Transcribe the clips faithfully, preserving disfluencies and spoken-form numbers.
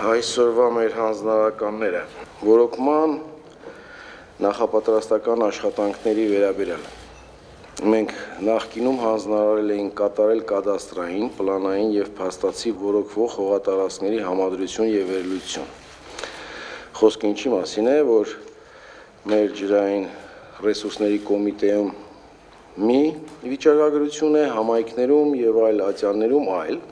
Այսօրվա մեր հանձնարարականները որոքման նախապատրաստական աշխատանքների վերաբերյալ մենք նախկինում հանձնարարել էինք կատարել կադաստրային, պլանային եւ փաստացի որոքվող հողատարածքների համադրություն եւ վերլուծություն։ Խոսքը ինչի մասին է, որ մեր ջրային ռեսուրսների կոմիտեում մի վիճակագրություն է, համայնքներում եւ այլ ատյաններում այլ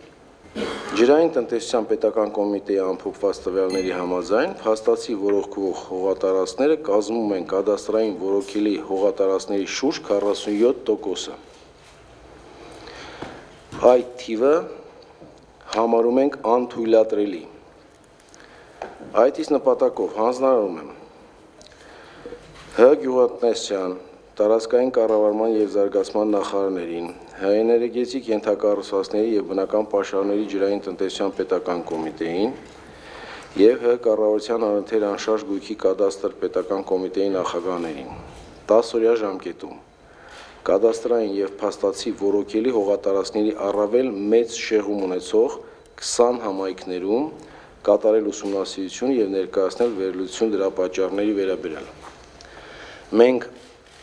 Ջրային տնտեսության պետական կոմիտեի ամփոփված տվյալների համաձայն փաստացի որոքվող հողատարածքները կազմում են կադաստրային որոքելի հողատարածքների շուրջ քառասունյոթ տոկոսը։ Այդ թիվը համարում ենք անթույլատրելի։ Այդ իսկ նպատակով հանձնարարում եմ Հ. Գյուղատնտեսության, տարածքային կառավարման եւ զարգացման նախարարներին, Հ. Էներգետիկ ենթակառուցվածքների եւ բնական պաշարների ջրային տնտեսության պետական կոմիտեին եւ Հ. Կառավարության առընթեր անշարժ գույքի կադաստր պետական կոմիտեի նախագահներին տասը օրյա ժամկետում կադաստրային եւ փաստացի որոքելի հողատարածքների առավել մեծ շեղում ունեցող քսան համայնքներում կատարել ուսումնասիրություն եւ ներկայացնել վերլուծություն դրա պատճառների վերաբերյալ։ Մենք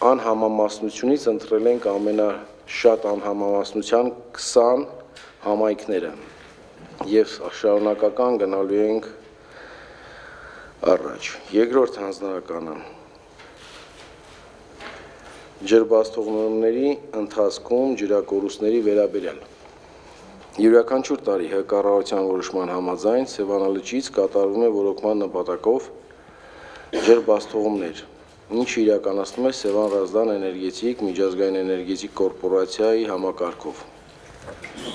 անհամամասնությունից ընտրել ենք ամենաշատ անհամամասնության քսան համայնքները եւ շարունակական գնալու ենք առաջ։ Երկրորդ հանձնարարականը ջրբաստողների ընթացքում ջրակորուստների վերաբերյալ Յուրաքանչյուր տարի Հ. Կառավարության որոշման համաձայն Սևանալճից կատարվում է որոքման նպատակով ջրբաստողումներ, ինչը իրականացնում է Սևան Ռազդան էներգետիկ միջազգային էներգետիկ կորպորացիայի համակարգով,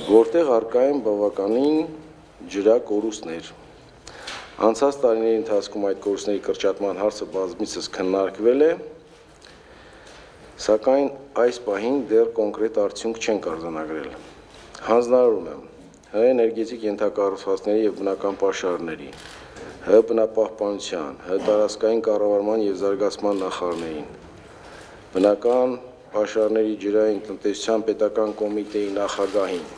որտեղ առկա են բավականին ջրակորուստներ։ Անցած տարիների ընթացքում այդ կորուստների կրճատման հարցը բազմիցս քննարկվել է, սակայն այս պահին դեռ կոնկրետ արդյունք չենք արձանագրել։ Հանձնարարում եմ Հ. Էներգետիկ ենթակառուցվածքների եւ բնական պաշարների, Հ. Բնապահպանության, Հ. Տարածքային կառավարման եւ զարգացման նախարարներին, բնական պաշարների ջրային տնտեսության պետական կոմիտեի նախագահին,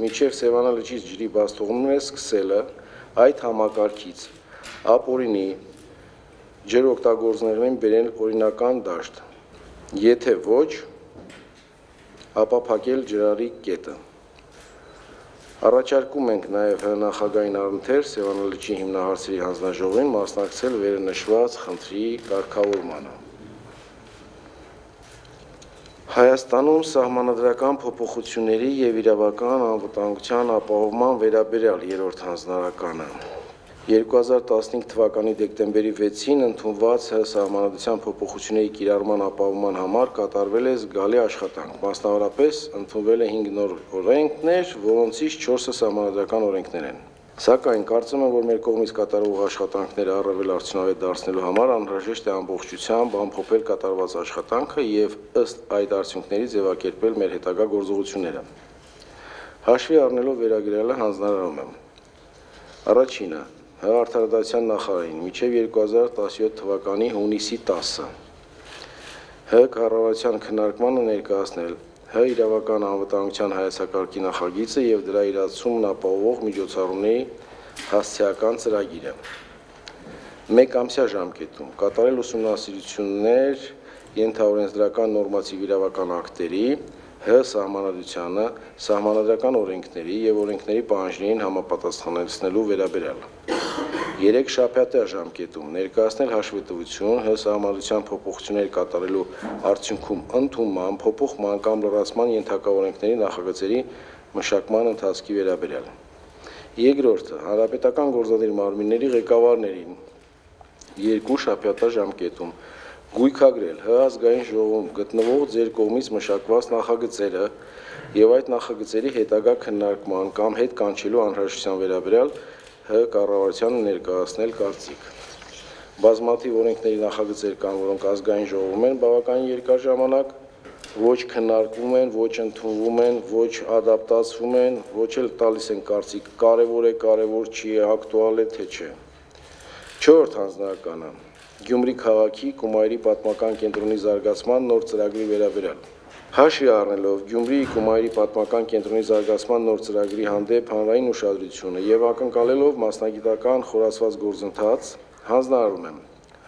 մինչև Սևանալճից ջրի բաստողումները սկսելը այդ համակարգից ապօրինի ջրօգտագործողներին բերել օրինական դաշտ, եթե ոչ, ապա փակել ջրարի կետը։ Առաջարկում ենք նաև Հ. նախագահային առընթեր Սևանալճի հիմնահարցերի հանձնաժողովին մասնակցել վերնշված խնդրի կարգավորմանը։ Հայաստանում սահմանադրական փոփոխությունների եւ իրավական անվտանգության ապահովման վերաբերյալ երրորդ հանձնարարականը երկու հազար տասնհինգ թվականի դեկտեմբերի վեցին ընդունված Հ. Սահմանադրության փոփոխությունների կիրառման ապահովման համար կատարվել է զգալի աշխատանք, մասնավորապես ընդունվել է հինգ նոր օրենքներ, որոնցից չորսը սահմանադրական օրենքներ են։ Սակայն կարծում եմ, որ մեր կողմից կատարվող աշխատանքները առավել արդյունավետ դարձնելու համար անհրաժեշտ է ամբողջությամբ ամփոփել կատարված աշխատանքը եւ ըստ այդ արդյունքների ձևակերպել մեր հետագա գործողությունները։ Հաշվի առնելով վերագրյալը հանձնարարում եմ Առաջինը Հ. Արդարադատության նախարարին մինչև երկու հազար տասնյոթ թվականի հունիսի տասը Հ. Կառավարության քննարկմանը ներկայացնել Հ. Իրավական անվտանգության հայեցակարգի նախագիծը եւ դրա իրացումն ապահովող միջոցառումների հասցեական ծրագիրը։ Մեկ ամսյա ժամկետում կատարել ուսումնասիրություններ ենթաօրենսդրական նորմատիվ իրավական ակտերի, Հ. Սահմանադրությանը, սահմանադրական օրենքների եւ օրենքների պահանջներին համապատասխանեցնելու վերաբերյալ։ Երեք շաբաթյա ժամկետում ներկայացնել հաշվետվություն Հ. Սահմանադրության փոփոխություններ կատարելու արդյունքում ընդունման, փոփոխման կամ լրացման ենթակա օրենքների նախագծերի մշակման ընթացքի վերաբերյալ։ Երկրորդը հանրապետական գործադիր մարմինների ղեկավարներին երկու շաբաթյա ժամկետում գույքագրել Հ. Ազգային ժողովում գտնվող ձեր կողմից մշակված նախագծերը եւ այդ նախագծերի հետագա քննարկման կամ հետ կանչելու անհրաժեշտության վերաբերյալ Հ. Կառավարությանը ներկայացնել կարծիք։ Բազմաթիվ օրենքների նախագծեր կան, որոնք ազգային ժողովում են բավականին երկար ժամանակ, ոչ քննարկվում են, ոչ ընդունվում են, ոչ ադապտացվում են, ոչ էլ տալիս են կարծիք կարևոր է, կարևոր չի, ակտուալ է, թե չէ։ Չորրորդ հանձնարարականը Գյումրի քաղաքի Կումայրի պատմական կենտրոնի զարգացման նոր ծրագրի վերաբերյալ։ Հաշվի առնելով Գյումրիի Կումայրի պատմական կենտրոնի զարգացման նոր ծրագրի հանդեպ հանրային ուշադրությունը եւ ակնկալելով մասնագիտական խորացված գործընթաց, հանձնարարում եմ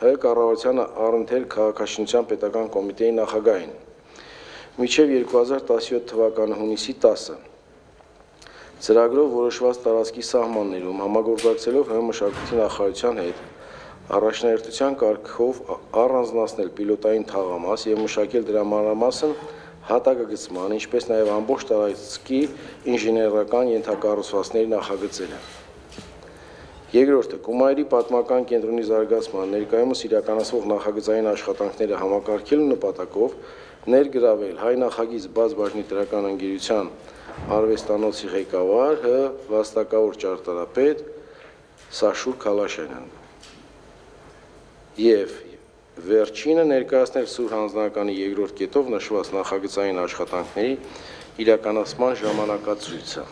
Հայ կառավարությանը առընթեր քաղաքաշինության պետական կոմիտեի նախագահին մինչև երկու հազար տասնյոթ թվականի հունիսի տասը ծրագրով որոշված տարածքի սահմաններում համագործակցելով Հայ մշակույթի նախարարության հետ առաջնահերթության կարգով առանձնացնել պիլոտային թաղամաս եւ մշակել դրա մանրամասն հատակագծման, ինչպես նաև ամբողջ տարածքի ինժեներական ենթակառուցվածքների նախագծելը։ Երկրորդը Կումայրի պատմական կենտրոնի զարգացման ներկայումս իրականացվող նախագծային աշխատանքները համակարգելու նպատակով ներգրավել հայ նախագիծ բաց բաժնի տրական ընկերության արվեստանոցի ղեկավար Հ վաստակավոր ճարտարապետ Սաշուր Քալաշյանյան։ Եվ վերջինը ներկայացնել Սուր հանձնականի երկրորդ կետով նշված նախագծային աշխատանքների իրականացման ժամանակացույցը։